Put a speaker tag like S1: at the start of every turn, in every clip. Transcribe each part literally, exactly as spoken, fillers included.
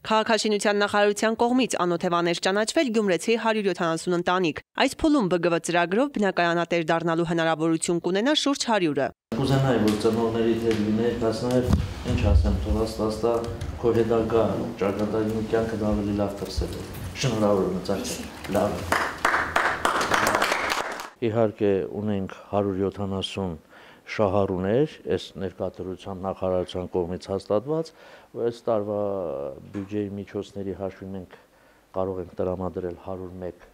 S1: Քաղաքաշինության նախարարության կողմից անօթևան էր ճանաչվել գյումրեցի հարյուր յոթանասուն ընտանիք։ Այս փուլում Բ Գ V ծրագրով բնակարանատեր դառնալու հնարավորություն կունենա շուրջ հարյուրը։
S2: Կուզենայի, որ ծնողների հետ լիներ, բայց նաև ինչ ասեմ, թողաստաստա քո հետագա ճակատագին կյանքը ավելի լավ դրսել է։ Շնորհավոր եմ, լավ։ Իհարկե ունենք հարյուր յոթանասուն շահառուներ, այս ներկայացության նախարարության կողմից հաստատված, այս տարվա բյուջեի միջոցների հաշվին մենք կարող ենք տրամադրել հարյուր մեկ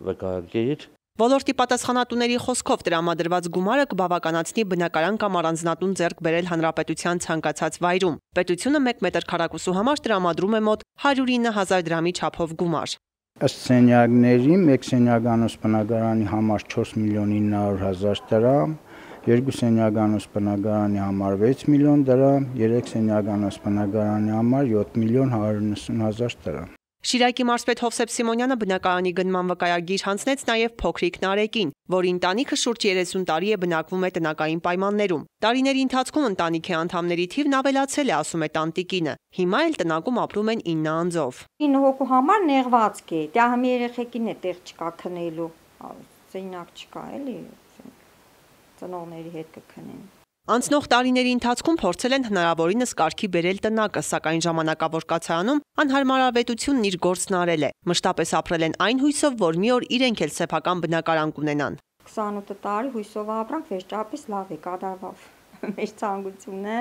S2: վկայագիր։
S1: Ոլորտի պատասխանատուների խոսքով տրամադրված գումարը կբավականացնի բնակարան կամ առանձնատուն ձեռք բերել հանրապետության ցանկացած վայրում։ Պետությունը մեկ մետր քառակուսու համար տրամադրում է մոտ հարյուր ինը հազար դրամի չափով գումար։
S3: Ըստ սենյակների մեկ սենյականոց բնակարանի համար չորս միլիոն ինը հարյուր հազար դրամ, երկու սենյականոց բնակարանի համար վեց միլիոն դրամ, երեք սենյականոց բնակարանի համար յոթ միլիոն հարյուր նվսուն հազար դրամ։
S1: Շիրակի մարզպետ Հովսեփ Սիմոնյանը բնակարանի գնման վկայագիր հանձնեց նաև փոքրիկ Նարեկին, որի ընտանիքը շուրջ երեսուն տարի է բնակվում է տնակային պայմաններում։ Տարիների ընթացքում ընտանիքի անդամների թիվն ավելացել է, ասում է տանտիկինը։ Հիմա էլ տնակում ապրում են ինը անձով։
S4: ինը հոգու համար նեղվածք է, դա համի երեխեքին է տեղ չկա քնելու, սենյակ չկա էլի, ծնողների հետ կքնեն։
S1: Անցնող տարիների ընթացքում փորձել են հնարավորինս կարգի բերել տնակը, սակայն ժամանակավոր կացարանում անհարմարավետությունն իր գործն արել է։ Մշտապես ապրել են այն հույսով, որ մի օր իրենք էլ սեփական բնակարան կունենան։
S4: քսանութ տարի հույսով ապրանք, վերջապես լավ է, կատարվավ։ Մեր ցանկությունն է,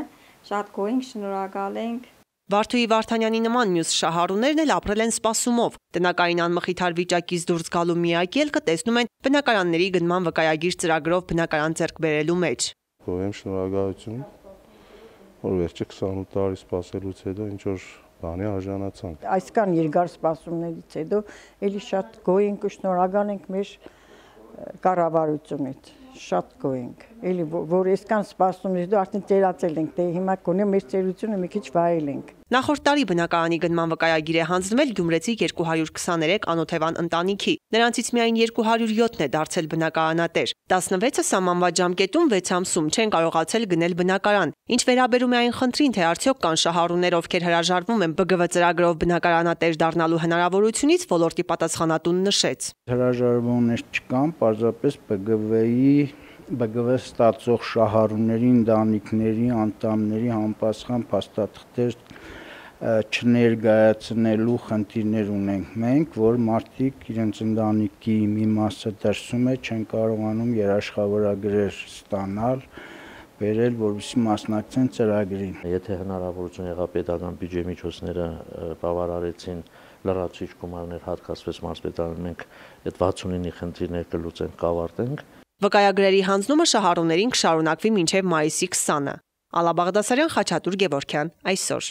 S4: շատ գոհ ենք, շնորհակալ ենք։
S1: Վարդուհի Վարդանյանի նման մյուս շահառուներն էլ ապրել են սպասումով։ Տնակային անմխիթար վիճակից դուրս գալու միակ ելքը տեսնում են բնակարանների գնման վկայագիր ծրագրով բնակարան ձեռք բերելու մեջ։
S5: Գոհ եմ, շնորհակալություն, որ վերջը քսանութ տարի սպասելուց հետո ինչ որ բանի արժանացանք։
S6: Այսքան երկար սպասումներից հետո էլի շատ գոհ ենք ու շնորհակալ ենք մեր կառավարությունից, շատ գոհ ենք, էլի որ այսքան սպասումից հետո արդեն ծերացել ենք, դե հիմա կոնե մեր ծերությունը մի քիչ վայել ենք։
S1: Նախորդ տարի բնակարանի գնման վկայագիր է հանձնվել գյումրեցի երկու հարյուր քսաներեք անօթևան ընտանիքի։ Նրանցից միայն երկու հարյուր յոթն է դարձել բնակարանատեր։ տասնվեցը սահմանված ժամկետում վեց ամսում չեն կարողացել գնել բնակարան։ Ինչ վերաբերում է այն խնդրին, թե արդյոք կան շահառուներ, ովքեր հրաժարվում են Բ Գ V ծրագրով բնակարանատեր դառնալու հնարավորությունից, ոլորտի պատասխանատուն նշեց։
S3: Հրաժարվողներ չկան, պարզապես Բ Գ V-ի Բ Գ V ստացող շահառուների ընտանիքների անդամների համապատասխան փաստաթղթեր չներկայացնելու խնդիրներ ունենք մենք, որ մարդիկ իրենց ընտանիքի մի մասը դրսում է, չեն կարողանում երաշխավորագրեր ստանալ, բերել, որովհետեւ մասնակցեն ծրագրին։
S2: Եթե հնարավորություն եղավ պետական բյուջեի միջոցները բավարարեցին լրացուցիչ գումարներ հատկացվեց մարզպետարան, մենք այդ վաթսունինի խնդիրներ կլուծենք, կավարտենք։
S1: Վկայագրերի հանձնումը շահառուներին կշարունակվի մինչև մայիսի քսանը։ Ալա Բաղդասարյան, Խաչատուր Գևորգյան, այսօր։